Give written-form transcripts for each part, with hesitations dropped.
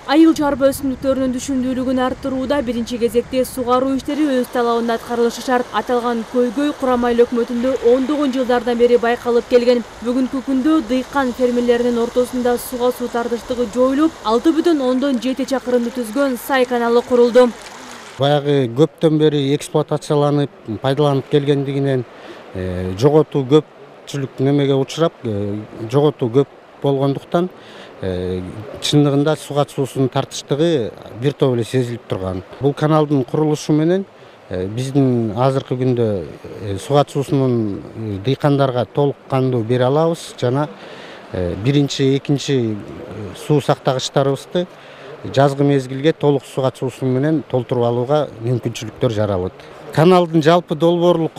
Айыл чарба өсүмдүктөрүнүн түшүмдүүлүгүн арттырууда биринчи кезекте сугаруу иштери өз талабында аткарылышы шарт. Аталган көйгөй Курам айыл өкмөтүндө ондогон жылдардан бери байкалып келген. Бүгүнкү күндө дыйкан фермерлеринин ортосунда суга суу тартыштыгы жоюлуп, 6,7 чакырымды түзгөн Сай каналы курулду. Баягы көптөн бери эксплуатацияланып, пайдаланып келгендигинен жоготуу көпчүлүк немеге учурап, жоготуу көп болгондуктан чындыгында суга суусунун тартыштыгы бир топ эле сезилип турган. Бул каналдын курулушу менен биздин азыркы күндө суга суусунун дыйкандарга толук кандуу бере алабыз жана биринчи, экинчи суу сактагычтарыбызды жазгы мезгилге толук суга суусу менен толтуруп алууга мүмкүнчүлүктөр жаралат. Каналдын жалпы долбоорлук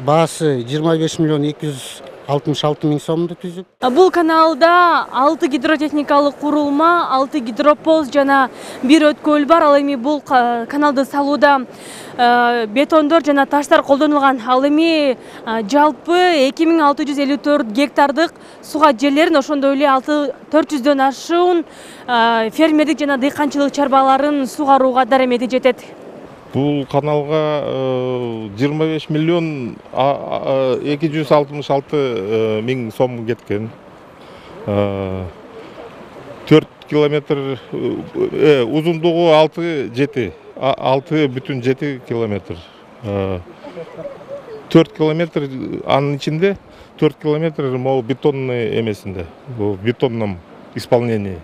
баасы 25,266 миң сомду түзүп. Бул каналда 6 гидротехникалык курулма, 6 гидропост жана 1 өткөл бар. Ал эми бул каналды салууда бетондор жана таштар колдонулган. Ал эми жалпы 2654 гектардык суга жерлерин, ошондой эле 400дөн ашуун фермердик жана дыйканчылык чарбаларын сугарууга даремети жетет. Бул каналга 25 миллион 266 миң сом кеткен. 4 километр узундугу 6,7 километр. 4 километр анын ичинде 4 километр могу бетонный эмесинде. Бул бетонном исполнении.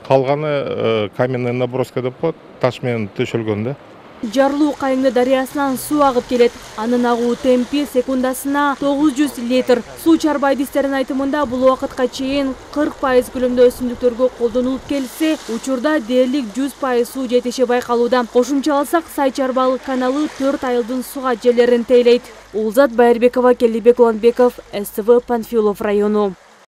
Калганы каменный наброска деп коет, таш менен төшөлгөн да. Жарлуу Кайыңды дарыясынан суу агып келет. Анын агуу темпи секундасына 900 литр. Суу чарба адистеринин айтымында бул убакытка чейин 40% көлөмдө өсүмдүктөргө колдонулуп келсе, учурда дээрлик 100% суу жетиши байкалууда. Кошумчаласак, Сай чарбалык каналы 4 айылдын суга жерлерин тейлейт. Улзат Байырбекова, Келдибек Уланбеков, СТВ, Панфилов району.